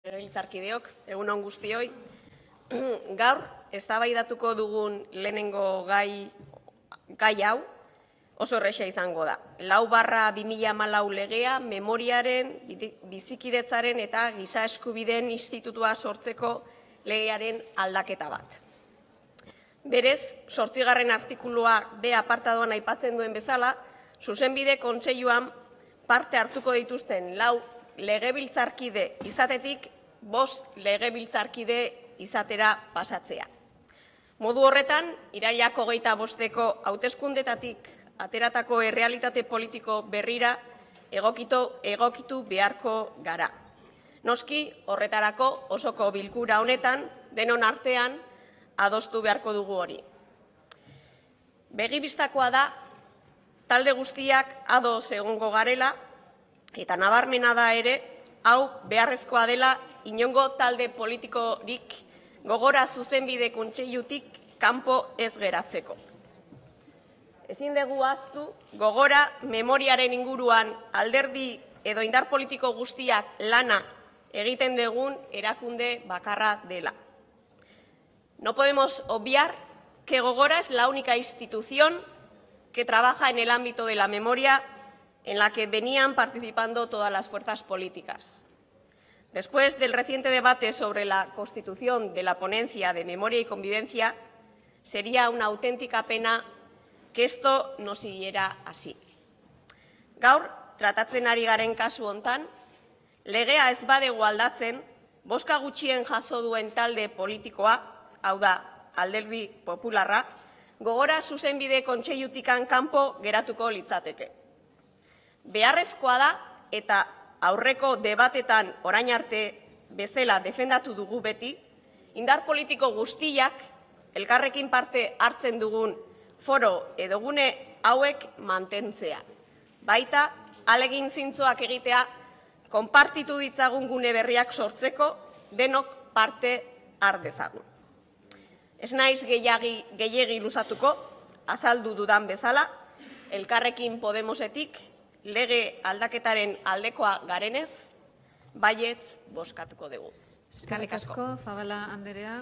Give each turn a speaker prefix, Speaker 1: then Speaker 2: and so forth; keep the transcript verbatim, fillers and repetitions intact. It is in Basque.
Speaker 1: Legebiltzarkideok, egun on guztioi. Gaur, eztabaidatuko dugun lehenengo gai, gai hau oso erresa izango da. Lau barra bi mila hamalau legea, memoriaren, bizikidetzaren eta giza eskubideen institutua sortzeko legearen aldaketa bat. Berez, zortzigarren artikulua B apartadoan aipatzen duen bezala, Zuzenbide Kontseiluan parte hartuko dituzten lau legebiltzarkide izatetik bost legebiltzarkide izatera pasatzea. Modu horretan, irailak hogeita bosteko hauteskundetatik ateratako errealitate politiko berrira egokitu, egokitu beharko gara. Noski, horretarako osoko bilkura honetan, denon artean, adostu beharko dugu hori. Begibistakoa da, talde guztiak ados egongo garela, eta nabarmena da ere, hau beharrezkoa dela inongo talde politikorik gogora Zuzenbide Kontseilutik kanpo ez geratzeko. Ezin dugu ahaztu, gogora memoriaren inguruan alderdi edo indar politiko guztiak lana egiten dugun erakunde bakarra dela. No podemos obviar que Gogora es la única institución que trabaja en el ámbito de la memoria en la que venían participando todas las fuerzas políticas. Después del reciente debate sobre la constitución de la ponencia de memoria y convivencia, sería una auténtica pena que esto no siguiera así. Gaur, tratatzen ari garen kasu hontan, legea ez badegu aldatzen, bozka gutxien jaso duen talde politikoa, hau da, alderdi popularra, Gogora Zuzenbide Kontseilutikan kanpo geratuko litzateke. Beharrezkoa da eta aurreko debatetan orain arte bezala defendatu dugu beti, indar politiko guztiak elkarrekin parte hartzen dugun foro edo gune hauek mantentzea. Baita, ahalegin zintzoak egitea, konpartitu ditzagun gune berriak sortzeko denok parte har dezagun. Ez naiz gehiegi luzatuko, azaldu dudan bezala, Elkarrekin Podemosetik lege aldaketaren aldekoa garenez, baietz bozkatuko dugu.
Speaker 2: Eskerrik asko, Zabala Anderea.